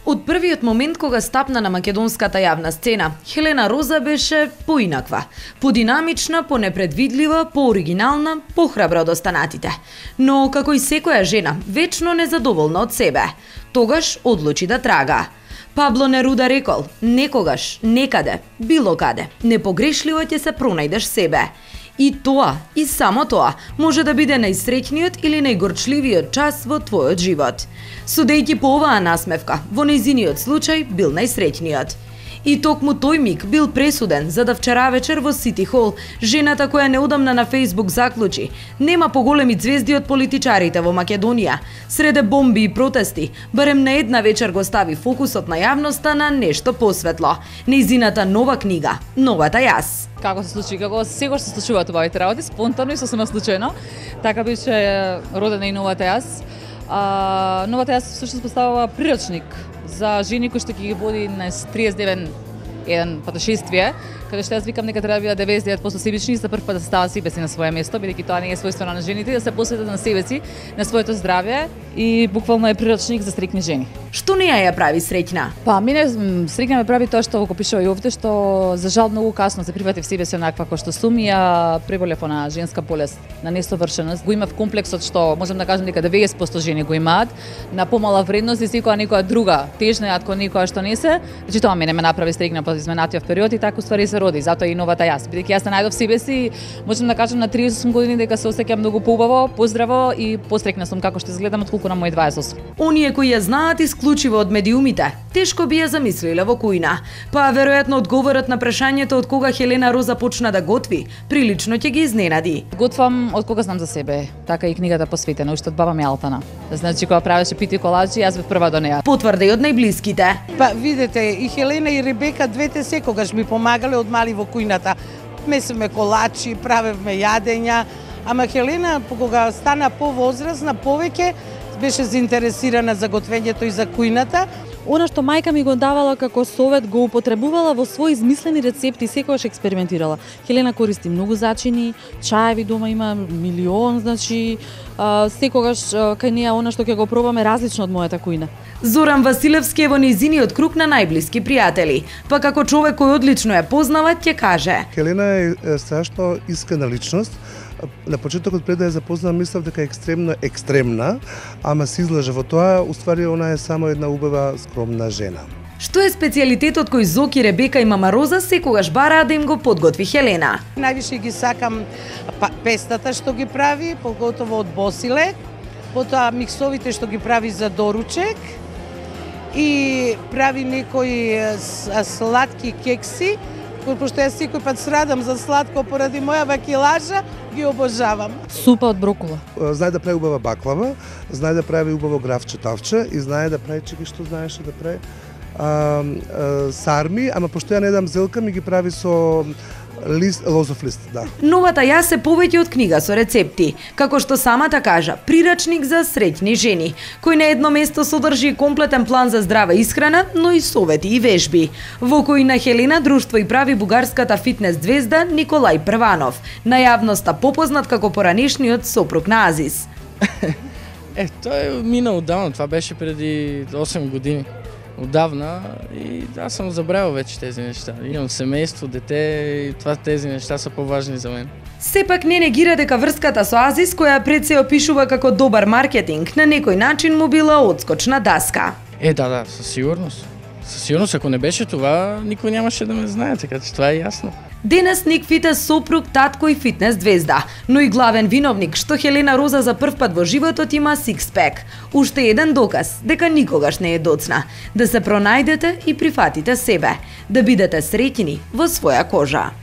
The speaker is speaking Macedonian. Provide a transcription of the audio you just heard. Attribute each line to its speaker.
Speaker 1: Од првиот момент кога стапна на македонската јавна сцена, Хелена Роза беше поинаква, подинамична, понепредвидлива, пооригинална, похрабра од останатите. Но како и секоја жена, вечно незадоволна од себе. Тогаш одлучи да трага. Пабло Неруда рекол: некогаш, некаде, било каде, непогрешливо ќе се пронајдеш себе. И тоа, и само тоа, може да биде најсреќниот или најгорчливиот час во твојот живот. Судејќи по оваа насмевка, во нејзиниот случај бил најсреќниот. И токму тој миг бил пресуден, за да вчера вечер во Сити Хол жената која неодамна на Фејсбук заклучи: нема поголеми ѕвезди од политичарите во Македонија. Среде бомби и протести, барем на една вечер го стави фокусот на јавноста на нешто посветло. Нејзината нова книга, Новата јас.
Speaker 2: Како се случи, како секогаш се случуваат оваите работи, спонтано и сосема случајно. Така беше родена и Новата јас. Новата јас всушност поставува прирачник за жени кои што ќе ги води на 39 еден патошествие, каде што јас викам дека треба да бидат 99% себични и за прв пат да стават себе си на свое место, бидејќи тоа не е својствено на жените, да се посветат на себе си, на своето здравје и буквално е прирачник за среќни жени.
Speaker 1: Што не ја прави среќна?
Speaker 2: Па, мене среќна ме прави тоа што го пишува и овде, што за жал многу касно се прифатив себе си онаква кој што сум и ја преболев на женска болест, на несовршеност. Го имав комплексот што можам да кажам дека 90% жени го имаат, на помала вредност и секоја некоја друга тежна од некоја што не се. Значи тоа мене ме направи среќна по изменатиот период и така ствари се роди, затоа и Новата јас. Бидејќи јас се најдов себе си, можам да кажам на 38 години дека се осеќам многу поубаво, поздраво и посреќна сум како што изгледам отколку на мој 28.
Speaker 1: Оние кои ја знаат исклучиво од медиумите, тешко би ја замислиле во кујна. Па веројатно одговорот на прашањето од кога Хелена Роза почна да готви, прилично ќе ги изненади.
Speaker 2: Готвам од кога знам за себе, така и книгата посветена уште од баба ми Алтана. Значи кога правеше пити коладжи, јас бев прва до неа.
Speaker 1: Потврда и од најблиските.
Speaker 3: Па видете, и Хелена и Ребека двете секогаш ми помагале од мали во кујната. Месиме колачи, правевме јадења, ама Хелена кога стана повозрасна повеќе беше заинтересирана за готвењето и за кујната.
Speaker 4: Она што мајка ми го давала како совет го употребувала во своји измислени рецепти, секогаш експериментирала. Хелена користи многу зачини, чаеви дома има милион, значи секогаш кај неа она што ќе го пробаме различно од мојата кујна.
Speaker 1: Зоран Василевски е во нејзиниот круг на најблиски пријатели, па како човек кој одлично ја познава, ќе каже:
Speaker 5: Хелена е страшно искрена личност. На почетокот пред да ја запознам мислев дека е екстремна, ама се излажа во тоа, уствари она е само една убава, скромна жена.
Speaker 1: Што е специјалитетот кој Зоки, Ребека и мама Роза секогаш бараа да им го подготви Хелена?
Speaker 3: Највише ги сакам пестата што ги прави, поготово од босилек, потоа миксовите што ги прави за доручек и прави некои сладки кекси, пошто јас секој пат срадам за сладко поради моја бакилажа, ги обожавам.
Speaker 4: Супа од брокула.
Speaker 5: Знае да прави убава баклава, знае да прави убаво гравче тавче и знае да прави чеки што знаеше да прави сарми, ама пошто ја не дам зелка, ми ги прави со лозов лист, да.
Speaker 1: Новата јас е повеќе од книга со рецепти, како што самата кажа, прирачник за среќни жени, кој на едно место содржи комплетен план за здрава исхрана, но и совети и вежби, во кој на Хелена друштво и прави бугарската фитнес звезда Николај Прванов, на јавноста попознат како поранешниот сопруг на Азис.
Speaker 6: Тој мина одавно, това беше преди 8 години. Одавна и аз съм забравил вече тези неща. Имам семејство, дете и тези неща са поважни за мен.
Speaker 1: Сепак не негира дека врската со Азис, која пред се опишува како добар маркетинг, на некој начин му била одскочна даска.
Speaker 6: Да, със сигурност. Със сигурност, ако не беше това, никой нямаше да ме знае, така че това е ясно.
Speaker 1: Денес Ник Фитес сопруг, татко и фитнес звезда, но и главен виновник што Хелена Роза за прв пат во животот има сикспек. Уште еден доказ дека никогаш не е доцна. Да се пронајдете и прифатите себе, да бидете среќни во своја кожа.